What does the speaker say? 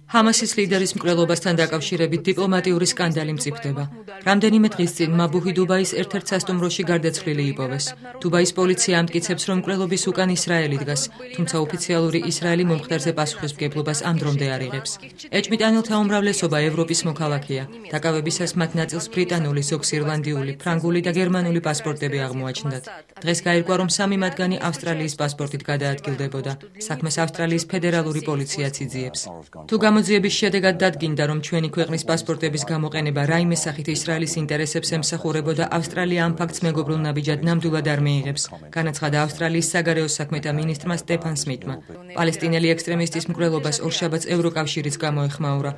ჰამასის ლიდერის მკვლელობასთან დაკავშირებით დიპლომატიური სკანდალი მწიფდება. რამდენიმე დღის წინ მაბუჰი დუბაის ერთ-ერთ სასტუმროში გარდაცვლილი იპოვეს. დუბაის პოლიცია ამტკიცებს, რომ მკვლელობის უკან ისრაელი დგას, თუმცა ოფიციალური ისრაელი მომხდარზე პასუხისმგებლობას ამ დრომდე არ იღებს. ეჭვმიტანილთა უმრავლესობა ევროპის მოქალაქეა. დაკავებისას მათ ნაწილს ბრიტანული, ზოგს ირლანდიული, ფრანგული და გერმანული პასპორტები აღმოაჩნდათ. დღეს გაირკვა, რომ 3 მათგანი ავსტრალიის პასპორტით გადაადგილდებოდა. საქმეს ავსტრალიის ფედერალური პოლიციაც იძიებს. თუ გამოძიების შედეგად დადგინდა, რომ ჩვენი ქვეყნის პასპორტების გამოყენება რაიმე სახით ისრაელის ინტერესებს ემსახურებოდა, ავსტრალია ამ ფაქტს მეგობრულ ნაბიჯად ნამდვილად არ მიიღებს, განაცხადა ავსტრალიის საგარეო საქმეთა მინისტრმა სტეფან სმითმა. პალესტინელი ექსტრემისტის მკვლელობას ორშაბათს ევროკავშირიც გამოეხმაურა.